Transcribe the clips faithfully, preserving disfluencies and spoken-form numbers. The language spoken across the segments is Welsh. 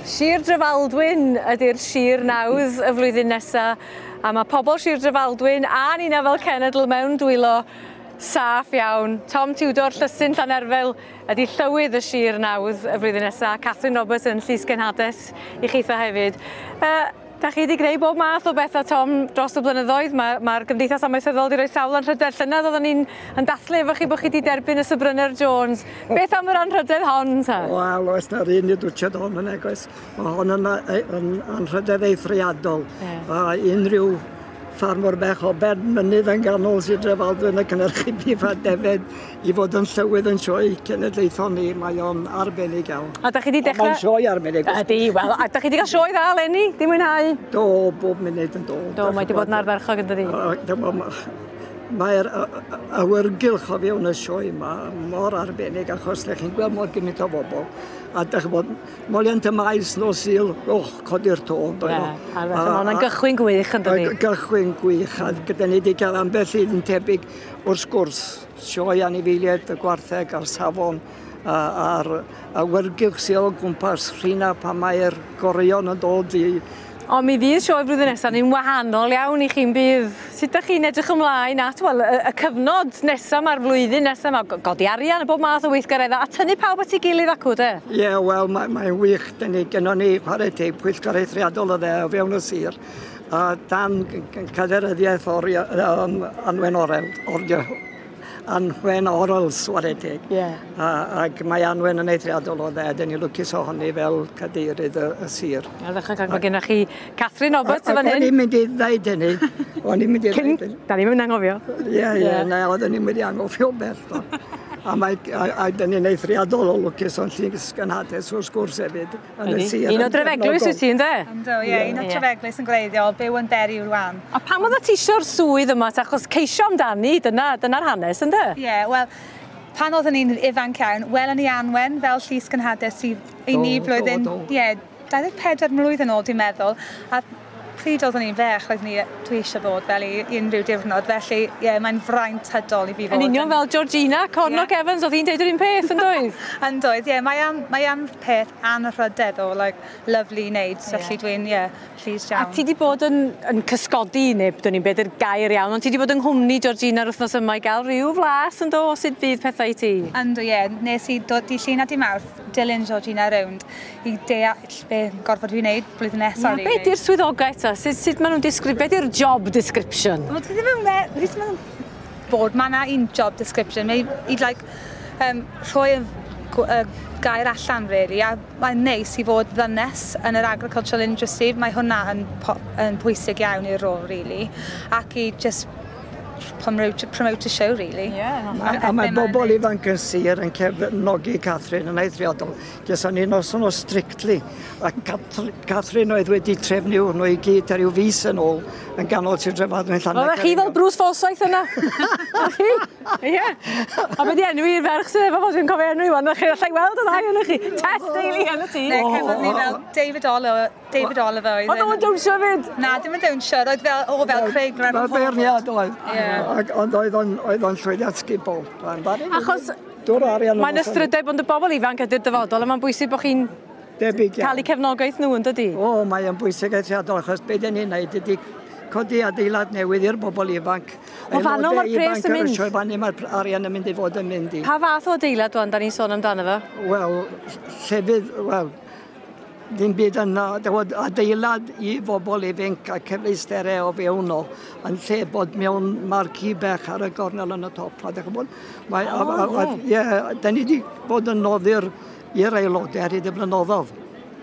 Sir Drefaldwyn ydy'r sir nawdd y flwyddyn nesaf, a mae pobl Sir Drefaldwyn a nina fel cenedl mewn dwylo saff iawn. Tom Tudor, Llysyn Llanerfel ydy llywydd y sir nawdd y flwyddyn nesaf. Catherine Roberts yn Llys Genhades i chitha hefyd. Uh, Da chi wedi gwneud bob math o bethau, Tom, dros y blynyddoedd. Mae'r ma Gymdeithas Amaethyddol wedi rhoi sawl anrhydedd. Llynedd oedden ni'n yn dathlu efo chi bod chi wedi derbyn y Sir Jones. Beth am yr anrhydedd hon, ta? Wel, oes na'r un i dwtsiad hon yn egoes. Mae hon yn, yn anrhydedd eithriadol. Yeah. A unrhyw ffarmwr bech o ben mynydd yn ganol Sir Drefaldwyn yn cynhyrchu bif a defed i fod yn llywydd yn sioe cenedlaethol ni, mae o'n arbennig iawn. A da chi wedi dechrau... Mae'n sioe arbennig. Ydy, wel, a da chi wedi cael sioe dda eleni, di mwynhau? Do, bob munud yn do. Do, mae wedi bod yn ardderchog yn dydi? Mae'r awyrgylch o fewn y sioe yma mor arbennig achos lle chi'n gweld mor gymaint o bobl. A dych chi'n bod, moliant y maes nos Sul, och, codi'r to. Ie, a mae hwnna'n gychwyn gwych yn dydi? Gychwyn gwych, a gyda ni wedi cael ambell un tebyg wrth gwrs, sioe anifeiliaid, y gwartheg a'r safon, a'r awyrgylch sydd o gwmpas rhina pan mae'r goreuon yn dod i. Ond mi fydd sioe flwyddyn nesaf ni'n wahanol iawn i chi'n bydd. Sut ydych chi'n edrych ymlaen at wel, y, y cyfnod nesaf ma'r flwyddyn nesaf ma, godi arian a bob math o weithgareddau a tynnu pawb at ei gilydd acw, de? Ie, yeah, wel, mae'n mae wych. Dyn ni, gynnon ni chwarae teg pwyllgor eithriadol o dde o fewn y sir. A dan caderyddiaeth o'r um, Anwen Orel, or, Anwen Orels, chwarae teg. Yeah. A, ac mae Anwen yn eithriadol o dde, dyn ni lwcus ohoni fel cadeirydd y, y sir. Ardderchog, ac mae gennych chi Catherine Roberts yn fan hyn. O'n i'n mynd i ddeud hynny. O'n i'n mynd i ddeud hynny. Da ni'n mynd anghofio. Ie, ie, na, oedden ni'n mynd i anghofio bell. A mae, a, a dyn ni'n eithriadol o lwcus o'n llys gynhades wrth gwrs hefyd yn y sir. Un o Drefeglwys wyt ti, ynde? Yndw, ie, un o Trefeglwys yn gwreiddiol, byw yn Derry rwan. A pam oeddet ti eisiau'r swydd yma, achos ceisio amdani, dyna, dyna'r hanes, ynde? Ie, wel, pan oedden ni'n ifanc iawn, welon ni Anwen fel llys gynhades i, i ni blwyddyn, ie, dau ddeg pedwar mlwydd yn ôl, dwi'n meddwl. A pryd oeddwn ni'n fech, oeddwn ni, dwi eisiau bod fel i unrhyw diwrnod, felly ie, yeah, mae'n fraint hydol i fi fod. Yn union fel Georgina Cornock yeah. Evans, oedd hi'n deud yr un peth, yn doedd? Yn doedd, ie, yeah, mae am, mae am peth anrhydedd o, like, lovely i wneud, yeah. Felly dwi'n, ie, yeah, pleased iawn. A ti di bod yn, yn cysgodi, neu dwn i'n beth yw'r gair iawn, ond ti di bod yng nghwmni Georgina yr wythnos yma i gael rhyw flas yn do, sut fydd pethau i ti? Yndw, ie, yeah. Nes i dod di Llun a di Mawrth dilyn Georgina rownd i deall be gorfod fi wneud blwyddyn nesaf. Yeah, be di'r swyddogaeth ta? Sut, sut maen nhw'n disgrif... Be di'r job description? Wel, dwi ddim yn me- dwi ddim yn bod mae yna un job description. Mae i, like, um, rhoi y, y gair allan, really, a mae'n neis i fod ddynes yn yr agricultural industry. Mae hwnna yn, yn pwysig iawn i'r rôl, really, ac i just promote, promote a show, really. Yeah, a, a mae bobl ifanc yn sir yn cefnogi Catherine yn eithriadol. Geson ni noson o Strictly, a Catherine oedd wedi trefnu hwnnw i gyd ar ryw fis yn ôl yn ganol Sir Drefaldwyn Llannerch. Oeddech chi fel Bruce Forsyth yna? Chi? Ie. A be di enw i'r ferch sydd efo fo, dwi'n cofio enw i wan, chi allai weld y ddau ohonoch chi. Tess Daly yn y tŷ. Ne, cefnodd ni fel David Oliver, David Oliver oedd. Oedd o'n dawnsio fyd? Na, dim yn dawnsio, oedd fel, o fel Craig Revel. Fel beirniad oedd. Ac, ond oedd o'n, oedd o'n llwyddiant sgubol. Achos mae'n ystrydeb ond y bobl ifanc ydy'r dyfodol, a mae'n bwysig bod chi'n cael eu cefnogaeth nhw, yn dydi? O, mae'n bwysig eithriadol, achos be dyn ni'n neud ydy codi adeilad newydd i'r bobl ifanc. O, fanno mae'r pres yn mynd? Sioe fanno mae'r arian yn mynd i fod yn mynd i. Pa fath o adeilad wan, da ni'n sôn amdano fo? Wel, llefydd, wel, ddim byd yna, adeilad i bobl ifanc a cyfleusterau o fewn o, yn lle bod mewn marquee bech ar y gornel yn y top. A dych chi'n mae, oh, a, a, a, ie, da ni wedi bod yn noddi'r i'r aelodau ar hyd y blynyddoedd,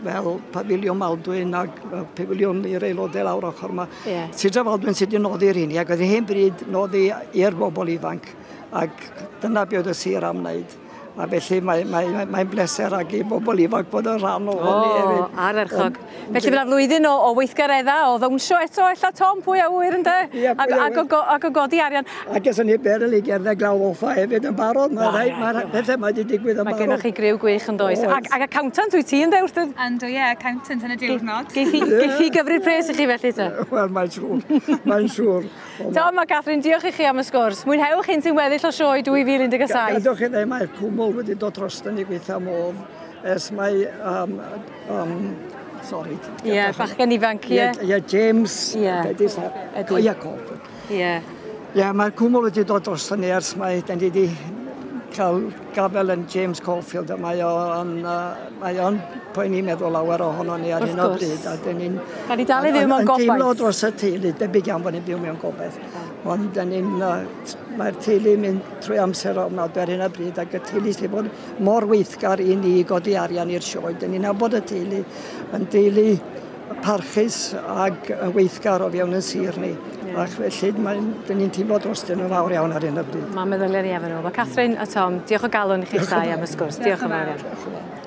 fel pafiliwn Maldwyn ac pafiliwn i'r aelodau lawr ochr yma. Yeah. Sir Drefaldwyn sydd wedi noddi'r hynny, ac oedd hen bryd noddi i'r bobl ifanc, ac dyna be oedd y sir am wneud. A felly mae'n mae, mae, mae bleser ag i bobl ifanc bod yn rhan o hynny hefyd. O, ardderchog. Felly fydd 'na flwyddyn o, o weithgareddau, o ddawnsio eto, ella Tom, pwy a ŵyr ynde? Ie, pwy a ŵyr. Ac, ac o godi arian. A geson ni berl i gerdded glaw offa hefyd yn barod. Mae rhai, mae pethau mae wedi digwydd yn Mae barod. gennych chi griw gwych yn does. Ac, ac accountant wyt ti ynde wrth y... Yndw, ie, accountant yn y diwrnod. Geith hi gyfri'r pres i chi felly te? Wel, mae'n siŵr. Mae'n siŵr. Tom a Catherine, diolch i chi am y sgwrs. Mwynhewch un sy'n weddill o sioe dwy fil un deg saith. Gadewch i ddweud, mae'r cwmwl wedi dod drosto ni gweithio modd ers mae um, um, Sorry. Ie, yeah, bachgen ifanc, ie. Ie, yeah, James. Ie. Ydy. Ie, Caulfield. Ie. Ie, mae'r cwmwl wedi dod dros ni ers mae, den ni wedi cael gafel yn James Caulfield a mae o'n, uh, mae o'n poeni meddwl lawer ohono ni ar hyn o bryd. A dyn ni'n... Da ni dal i fyw mewn gobaith. Yn teimlo dros y teulu, debyg iawn bod ni'n byw mewn gobaith. Ond dyn ni'n, uh, mae'r teulu mynd trwy amser ofnadwy ar hyn o bryd ac y teulu sydd bod mor weithgar i ni godi arian i'r sioe. Dyn ni'n nabod y teulu yn deulu parchus ac yn weithgar o fewn yn sir ni. Yeah. Ac felly mae'n, dyn ni'n teimlo drostyn nhw'n fawr iawn ar hyn o bryd. Mae'n meddyliau ni efo nhw. Mae Catherine a Tom, diolch o galon i chi'ch dau am y sgwrs. Diolch yn fawr iawn.